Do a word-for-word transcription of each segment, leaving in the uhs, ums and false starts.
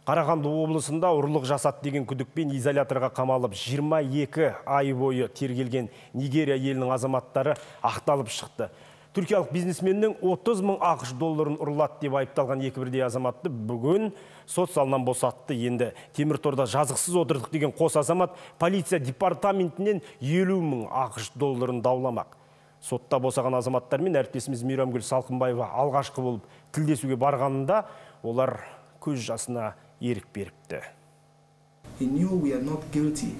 Қарағанды облысында ұрлық жасады деген күдікпен изоляторға қамалып жиырма екі ай бойы тергелген Нигерия елінің азаматтары ақталып шықты. Түркиялық бизнесменнің отыз мың ақш долларын ұрлады деп айыпталған екі бірдей азаматты бүгін сот залынан босатты. Енді Темірторда жазықсыз отырдық деген қос азамат полиция департаментінен елу мың ақш долларын дауламақ. Сотта босаған азаматтармен әріптесіміз Мейрамгүл Салқынбаева алғашқы болып тілдесуге барғанында олар көз жасына ерік беріпті. He knew we are not guilty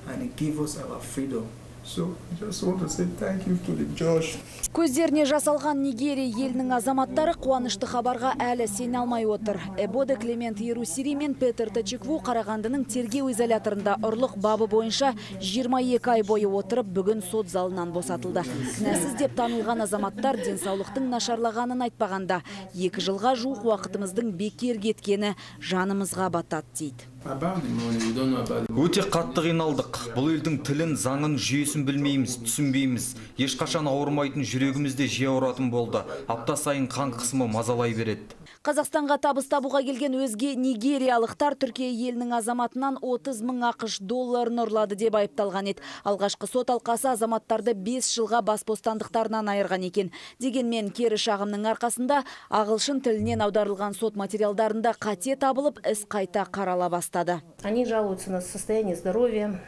and he gave us our freedom. So I just want to say thank you to the judge. Көздеріне жасалған Нигерия елінің азаматтары қуанышты хабарға әлі сене алмай отыр. Эбоде Клемент Ерусири мен Петер Тачекву Қарағандының тергеу изоляторында ұрлық бабы бойынша жиырма екі ай бойы отырып, бүгін сот залынан босатылды. Кінәсіз деп танылған азаматтар денсаулықтың нашарлағанын айтпағанда, екі жылға жуық уақытымыздың бекер кеткені жанымызға батады дейді. Өте қатты қиналдық. Бұл елдің тілін, заңын, жүйесін білмейміз, түсінбейміз. Ешқашан ауырмайтын жүрегімізде жиі ауыратын болды. Апта сайын қан қысымы мазалай береді. Қазақстанға табыс табуға келген өзге нигериялықтар Түркия елінің азаматынан отыз мың ақш долларын ұрлады деп айыпталған еді. Алғашқы сот алқасы азаматтарды бес жылға бас бостандықтарынан айырған екен. Дегенмен кері шағымның арқасында ағылшын тілінен аударылған сот материалдарында қате табылып, іс қайта қарала бастады. Они жалуются на состояние здоровья.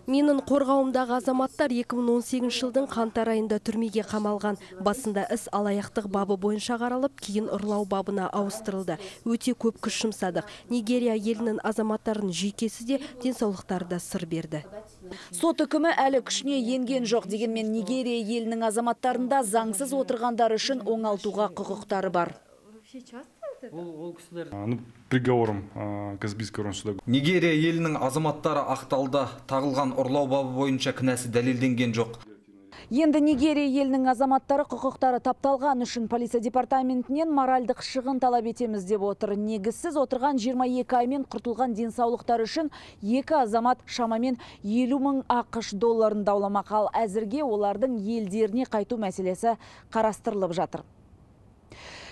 Менің қорғауымдағы азаматтар екі мың он сегізінші жылдың қаңтар айында түрмеге қамалған. Басында іс алаяқтық бабы бойынша қаралып, кейін ұрлау бабына ауыстырылды. Өте көп күш жұмсадық. Нигерия елінің азаматтарының жүйкесі де денсаулықтары да сыр берді. Сот үкімі әлі күшіне енген жоқ, дегенмен Нигерия елінің азаматтарында заңсыз отырғандар үшін оңалтуға құқықтары бар. Приговором Каспийского суда. Нигерия елінің азаматтары ақталды. Тағылған ұрлау бабы бойынша кінәсі дәлелденген жоқ. Енді Нигерия елінің азаматтары құқықтары тапталған үшін полиция департаментінен моральдық шығын талап етеміз деп отыр. Негізсіз отырған жиырма екі аймен құртылған денсаулықтар үшін екі азамат шамамен елу мың ақш долларын дауламақ, ал әзірге олардың елдеріне қайту мәселесі қарастырылып жатыр.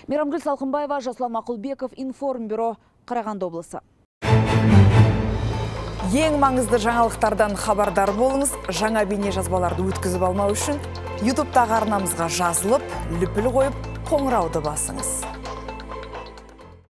Мейрамгүл Салқынбаева, Жасұлан Мақұлбеков, Информбюро, Қарағанды облысы. Ең маңызды жаңалықтардан хабардар болыңыз. Жаңа бейне жазбаларды өткізіп алмау үшін ютубтағы арнамызға жазылып, лүпіл қойып, қоңырауды басыңыз.